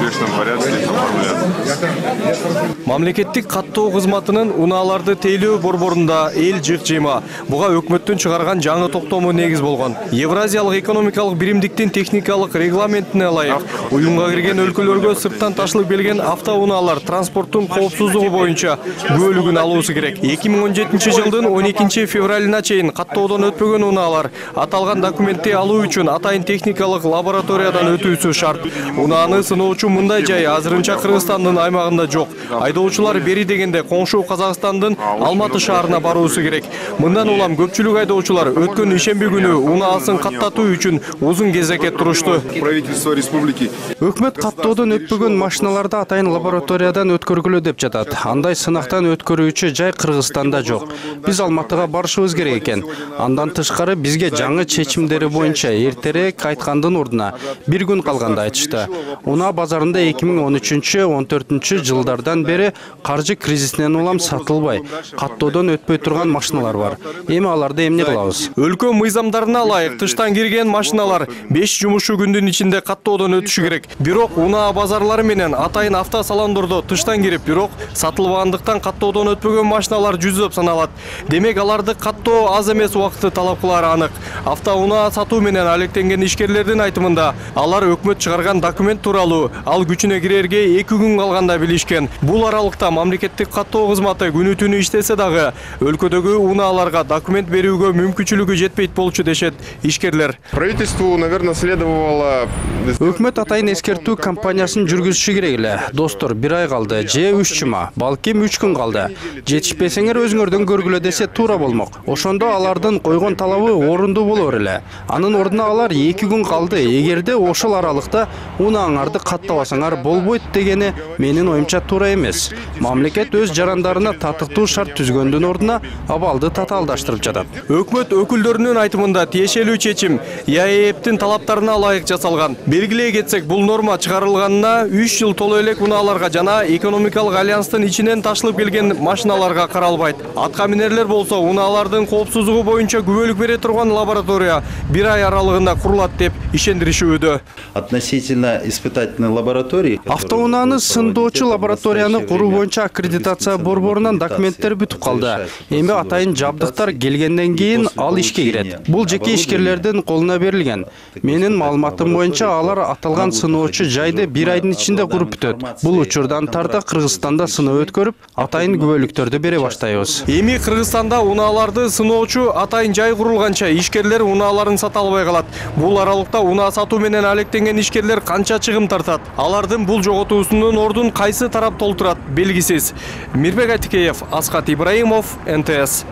обычном порядке оформляться. Мамлекеттик каттоо кызматынын унааларды тейлөө борборунда эл жык жыйма. Буга өкмөттүн чыгарган жаңы токтому негиз болгон. Евразиялык экономикалык биримдиктин техникалык регламентине ылайык уюмга кирген өлкөлөргө сырттан ташылып келген автоунаалар транспорттун коопсуздугу боюнча күбөлүгүн алуусу керек. 2017 жылдын 12 февралына чейин каттоодон өтпөгөн унаалар аталган документти алуу үчүн атайын техникалык лабораториядан өтүүсү шарт. Унааны сыноочу мындай жай азырынча Кыргызстандын аймагында жок. Айдоочулар бери дегенде коңшу Казакстандын Алматы шаарына баруусу керек. Мындан улам көпчүлүк айдоочулар өткөн ишемби күнү унаасын каттатуу үчүн узун кезекке турушту. Правительство республики Өкмөт каттоодон өтпөгөн машиналарды атайын лабораториядан өткөргүлө деп жатат. Андай сынактан өткөрүүчү жай Кыргызстанда жок. Биз Алматыга барышыбыз керек экен. Андан тышкары бизге жаңы чечимдери боюнча эртерээк айткандын ордуна бир күн калганда айтышты. Унаа базарында 2013-14 жылдардан бери каржы кризисинен улам сатылбай, каттоодон өтпөй турган машиналар бар. Эми аларды эмне кылабыз? Өлкө мыйзамдарына ылайык тыштан кирген машиналар 5 жумуш күндүн ичинде каттоодон өтүшү керек. Бирок унаа базарлары менен атайын автосалондордо тыштан кирип, бирок сатылбагандыктан каттоодон өтпөгөн машиналар жүздөп саналат. Демек аларды каттоо аз эмес убакытты талап кылары анык. Автоунаа сатуу менен алектенген ишкерлердин айтымында алар өкмөт чыгарган документ тууралуу ал күчүнө кирерге 2 күн калганда билишкен. Бул аралыкта мамлекеттик каттоо кызматы күнү-түнү иштесе дагы өлкөдөгү унааларга документ берүүгө мүмкүнчүлүгү жетпейт болчу дешет ишкерлер. Правительству, наверное, следовало... Өкмөт атайын эскертүү кампаниясын жүргүзүшү керек эле. Достор, 1 ай калды, же 3 жума, балким 3 күн калды. Жетишпесеңер өзүңөрдөн көргүлө десе туура болмок. Ошондо алардын койгон талабы орундуу болор эле. Анын ордуна алар 2 күн калды. Эгерде ошол аралыкта унааңарды каттабасаңар болбойт дегени менин оюмча туура эмес. Мамлекет өз жарандарына татыктуу шарт түзгөндүн ордуна абалды татаалдаштырып жатат. Өкмөт өкүлдөрүнүн айтымында тиешелүү чечим ЯЭПтин талаптарына ылайык жасалган. Белгилей кетсек, бул норма чыгарылганына 3 жыл толо элек унааларга жана экономикалык альянстын ичинен ташылып келген машиналарга каралбайт. Атка минерлер болсо унаалардын коопсуздугу боюнча күбөлүк бере турган лаборатория 1 ай аралыгында курулат деп ишендиришүүдө. Относительно испытательной лаборатории Автоунааны сындоочу лабораторияны куруу боюнча аккредитация борборунан документтер бүтүп калды. Эми атайын жабдыктар келгенден кийин ал ишке кирет. Бул жеке ишкерлердин колуна берилген. Менин маалыматым боюнча алар аталган сыноочу жайды 1 айдын ичинде куруп бүтөт. Бул учурдан тарта Кыргызстанда сыноо өткөрүп, атайын күбөлүктөрдү бере баштайбыз. Эми Кыргызстанда унааларды сыноочу атайын жай курулганча ишкерлер унааларын сата албай калат. Бул аралыкта унаа сатуу менен алектенген ишкерлер канча чыгым тартат? Алардын бул жоготуусунун ордун кайсы тарап толтурат белгисиз. Мирбек Айтикеев, Асхат Ибраимов, НТС.